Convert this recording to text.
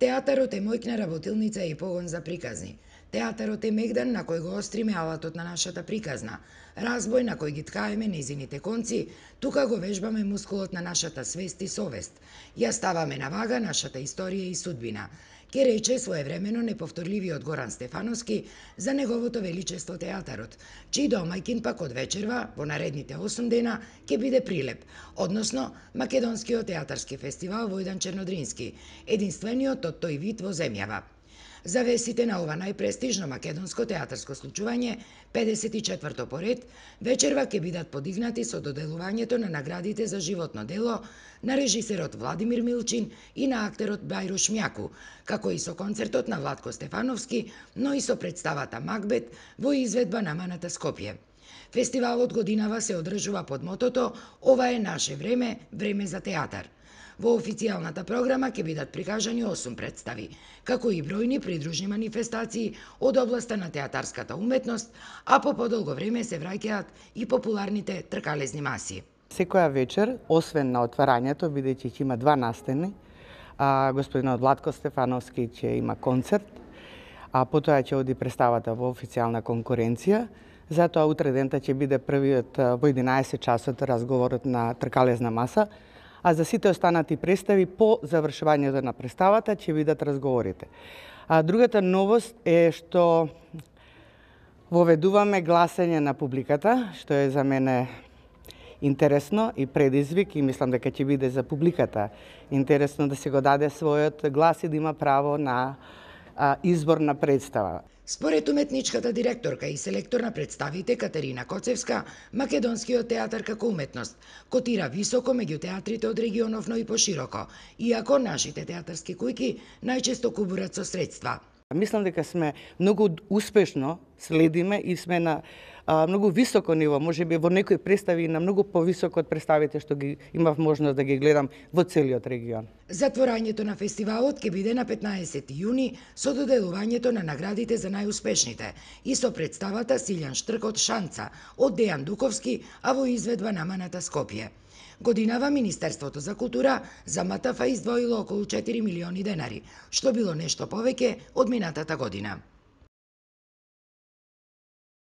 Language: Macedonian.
Театарот е мојкна работилница и погон за приказни. Театарот е мегдан на кој го остриме алатот на нашата приказна, разбој на кој ги ткаеме незините конци, тука го вежбаме мускулот на нашата свест и совест. Ја ставаме на вага нашата историја и судбина. Ке рече своевремено неповторливиот Горан Стефановски за неговото величество театарот, чиј домајкин пак од вечерва, во наредните 8 дена, ќе биде Прилеп, односно Македонскиот театарски фестивал Војдан Чернодрински, единствениот од тој вид во земјава. Завесите на ова најпрестижно македонско театарско случување, 54-то поред, вечерва ќе бидат подигнати со доделувањето на наградите за животно дело на режисерот Владимир Милчин и на актерот Бајро Шмјаку, како и со концертот на Владко Стефановски, но и со представата Макбет во изведба на Маната Скопје. Фестивалот годинава се одржува под мотото "Ова е наше време, време за театар". Во официјалната програма ќе бидат прикажани 8 представи, како и бројни придружни манифестации од областа на театарската уметност, а по подолго време се враќаат и популарните тркалезни маси. Секоја вечер, освен на отварањето, бидејќи ќе има 2 настани, господинот Владко Стефановски ќе има концерт, а потоа ќе оди представата во официјална конкуренција. Затоа утре дента ќе биде првиот во 11 часот разговорот на тркалезна маса, а за сите останати представи по завршувањето на представата ќе бидат разговорите. Другата новост е што воведуваме гласање на публиката, што е за мене интересно и предизвик, и мислам дека ќе биде за публиката интересно да се го даде својот глас и да има право на избор на представа. Според уметничката директорка и селектор на представите Катерина Коцевска, македонскиот театар како уметност котира високо меѓу театрите од регионов, но и пошироко, иако нашите театарски кујки најчесто кубурат со средства. Мислам дека сме многу успешно следиме и сме на многу високо ниво, можеби во некои представи на многу повисоко од представите што ги имав можност да ги гледам во целиот регион. Затворањето на фестивалот ќе биде на 15 јуни со доделувањето на наградите за најуспешните и со представата Силјан Штркот Шанца од Дејан Дуковски, а во изведба на Маната Скопје. Годинава Министерството за култура за МТФ издвоило околу 4 милиони денари, што било нешто повеќе од минатата година.